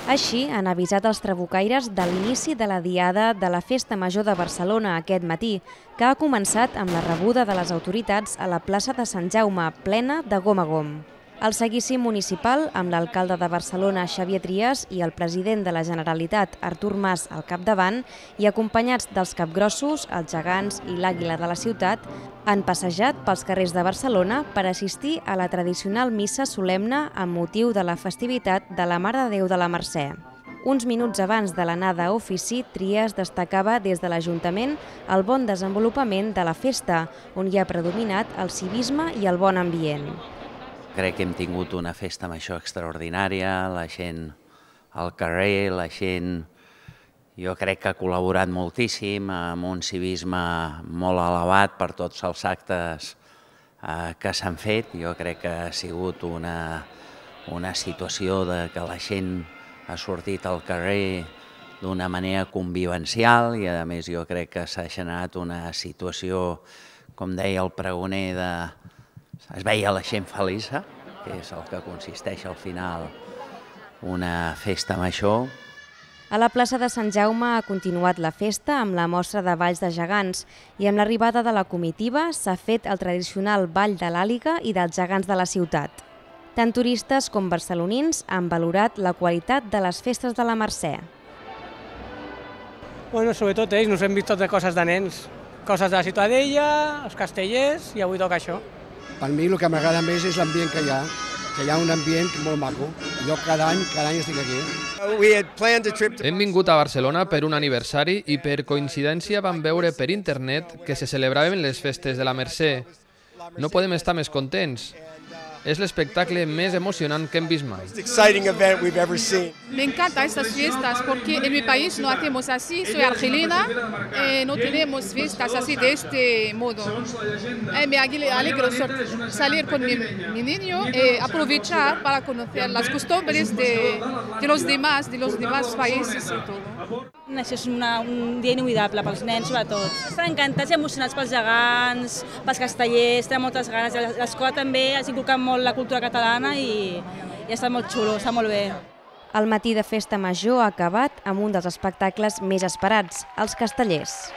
Així han avisat els trabucaires de l'inici de la diada de la Festa Major de Barcelona aquest matí, que ha començat amb la rebuda de les autoritats a la plaça de Sant Jaume, plena de gom a gom. El seguici municipal, amb l'alcalde de Barcelona, Xavier Trias, i el president de la Generalitat, Artur Mas, al capdavant, i acompanyats dels capgrossos, els gegants i l'àguila de la ciutat, han passejat pels carrers de Barcelona per assistir a la tradicional missa solemne amb motiu de la festivitat de la Mare de Déu de la Mercè. Uns minuts abans de l'anada a ofici, Trias destacava des de l'Ajuntament el bon desenvolupament de la festa, on hi ha predominat el civisme i el bon ambient. Crec que hem tingut una festa major extraordinària, la gent al carrer, la gent jo crec que ha col·laborat moltíssim amb un civisme molt elevat per tots els actes que s'han fet. Jo crec que ha sigut una situació que la gent ha sortit al carrer d'una manera convivencial i a més jo crec que s'ha generat una situació, com deia el pregoner, es veia la gent feliç, que és el que consisteix al final una festa major. A la plaça de Sant Jaume ha continuat la festa amb la mostra de balls de gegants i amb l'arribada de la comitiva s'ha fet el tradicional ball de l'àliga i dels gegants de la ciutat. Tant turistes com barcelonins han valorat la qualitat de les festes de la Mercè. Bueno, sobretot ells, nos hem vist tots de coses de nens, coses de la Ciutadella, els castellers, i avui toca això. Per mi el que m'agrada més és l'ambient que hi ha un ambient molt maco. Jo cada any estic aquí. Hem vingut a Barcelona per un aniversari i per coincidència vam veure per internet que se celebraven les festes de la Mercè. No podem estar més contents. Es l'espectacle més emocionant que hem vist mai. Me encantan estas fiestas porque en mi país no hacemos así. Soy argelina, no tenemos fiestas así de este modo. Me alegro salir con mi niño y aprovechar para conocer las costumbres de los demás países y todo. Això és un dia inolvidable pels nens, sobretot. Estan encantats i emocionats pels gegants, pels castellers, tenen moltes ganes. L'escola també has inculcat molt la cultura catalana i està molt xulo, està molt bé. El matí de festa major ha acabat amb un dels espectacles més esperats, els castellers.